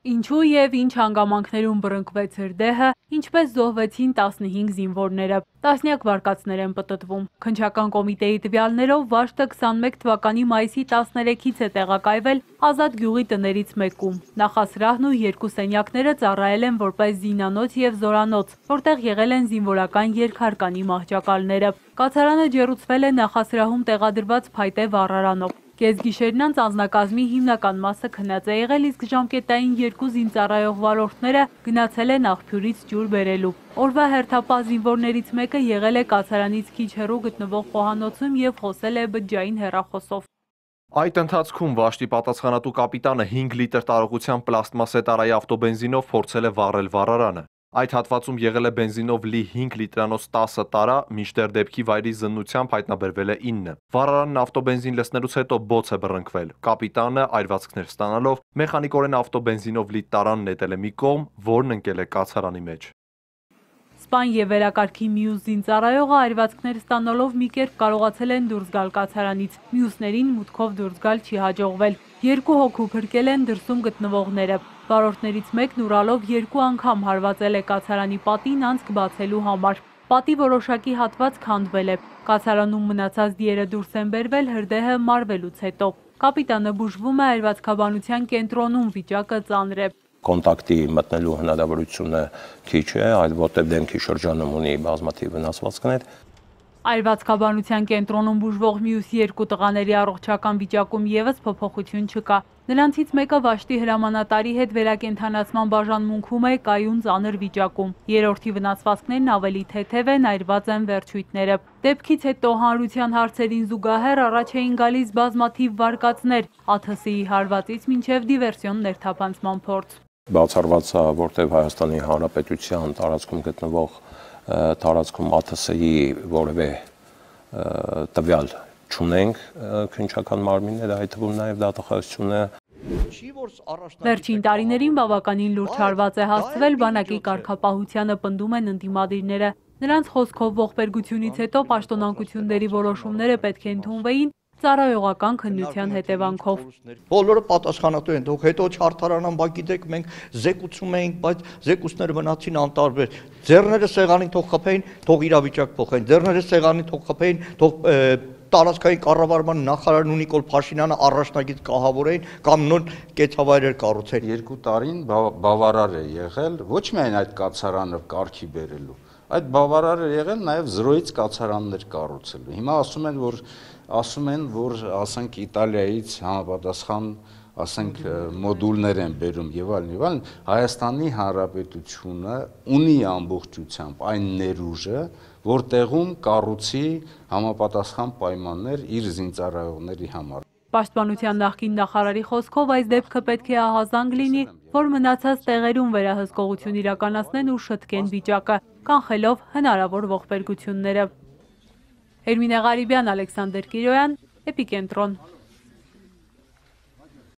Ինչու եւ ինչ հանգամանքներում բռնկվեց հրդեհը, ինչպես զոհվեցին 15 զինվորները, տասնյակ վարկածներ են պտտվում։ Քննչական կոմիտեի տվյալներով Վաշտը 21 թվականի մայիսի 13-ից է տեղակայվել Ազատ գյուղի տներից մեկում։ Նախասրահն ու երկու սենյակները ծառայել են որպես զինանոց եւ զորանոց, որտեղ եղել են զինվորական երկհարկանի մահճակալները։ Կացարանը ջեռուցվել է նախասրահում տեղադրված փայտե վառարանով։ Կեսգիշերն անց անձնակազմի հիմնական մասը քնած է եղել, իսկ ժամկետային երկու զինծառայող վարորդները գնացել են աղբյուրից ջուր բերելու։ Օրվա հերթապահ զինվորներից մեկը եղել է կացարանից քիչ հեռու գտնվող խոհանոցում եւ խոսել է բջջային հեռախոսով։ Այդ ընթացքում Վաշտի պատասխանատու կապիտանը 5 լիտր տարողությամբ պլաստմասե տարայի ավտոբենզինով փորձել է վառել վառարանը։ Այդ հատվածում եղել է բենզինով լի 5 լիտրանոց 10 տարա, մինչդեռ դեպքի վայրի զննությամբ հայտնաբերվել է 9։ Վառարանն ավտոբենզին լցնելուց հետո բոց է բռնկվել։ Կապիտանը այրվածքներ ստանալով մեխանիկորեն ավտոբենզինով լի տարան նետել է մի կողմ, որն ընկել է կացարանի մեջ։ Սպան եւ վերակարգի մյուս զինծառայողը այրվածքներ ստանալով մի կերպ կարողացել են դուրս գալ կացարանից, մյուսներին մուտքով դուրս գալ չի հաջողվել։ Երկու հոգու փրկել են դրսում գտնվողները։ Վարորդներից մեկն ուրալով 2 անգամ հարվածել է կացարանի պատին անցք բացելու համար։ Պատի որոշակի հատված քանդվել է։ Կացարանում մնացած դիերը դուրս են բերվել հրդեհը մարվելուց հետո։ Կապիտանը բուժվում է այրվածքաբանության կենտրոնում, վիճակը ծանր է։ Կոնտակտի մտնելու հնարավորությունը քիչ է, այլ որտեղ դեմքի շրջանում ունի բազմաթիվ վնասվածքներ։ Այրվածքաբանության կենտրոնում բուժվող մյուս երկու տղաների առողջական վիճակում եւս փոփոխություն չկա։ Նրանցից մեկը Վաշտի հրամանատարի հետ վերակենդանացման բաժանմունքում է կայուն ծանր վիճակում։ Երրորդի վնասվածքներն ավելի թեթև են, այրված են վերջույթները։ Դեպքից հետո հանրության հարցերին զուգահեռ առաջ էին գալիս բազմաթիվ վարկածներ, ԱԹՍ-ի հարվածից մինչև դիվերսիոն ներթափանցման փորձ։ Բացառված է, որտեղ Հայաստանի Հանրապետության տարածքում գտնվող տարածքում ԱԹՍ-ի որևէ տվյալ չունենք քննչական մարմինները, այդ թվում նաև դատախազությունը։ Վերջին տարիներին բավականին լուրջ հարված է հասցվել բանակի կարգապահությանը, պնդում են ընդդիմադիրները։ Նրանց խոսքով ողբերգությունից հետո պաշտոնանկությունների որոշումները պետք է ընդունվեին ծառայողական քննության հետևանքով։ Բոլորը պատասխանատու են, դուք հետո չարդարանան, բայց գիտեք, մենք զեկուցում էինք, բայց զեկուցները մնացին անտարբեր։ Ձեռները սեղանին թող խփեին, թող իրավիճակ փոխեն։ Ձեռները սեղանին թող խփեին, թող տարածքային կառավարման նախարար Նիկոլ Փաշինյանը առաջնագիծ կահավորեին կամ նոր կեցավայրեր կառուցեն։ 2 տարին բավարար է եղել ոչ միայն այդ կացարանը կարգի բերելու, այդ բավարար է եղել նաև զրոյից կացարաններ կառուցելու։ Հիմա ասում են, որ ասենք Իտալիայից համապատասխան ասենք մոդուլներ են բերում եւ այլն, Հայաստանի Հանրապետությունը ունի ամբողջությամբ այն ներուժը, որ տեղում կառուցի համապատասխան պայմաններ իր զինծառայողների համար։ Պաշտպանության նախկին նախարարի խոսքով այս դեպքը պետք է ահազանգ լինի, որ մնացած տեղերում վերահսկողություն իրականացնեն ու շտկեն վիճակը, կանխելով հնարավոր ողբերգությունները։ Էրմինե Ղարիբյան, Ալեքսանդր Կիրոյան, Էպիկենտրոն։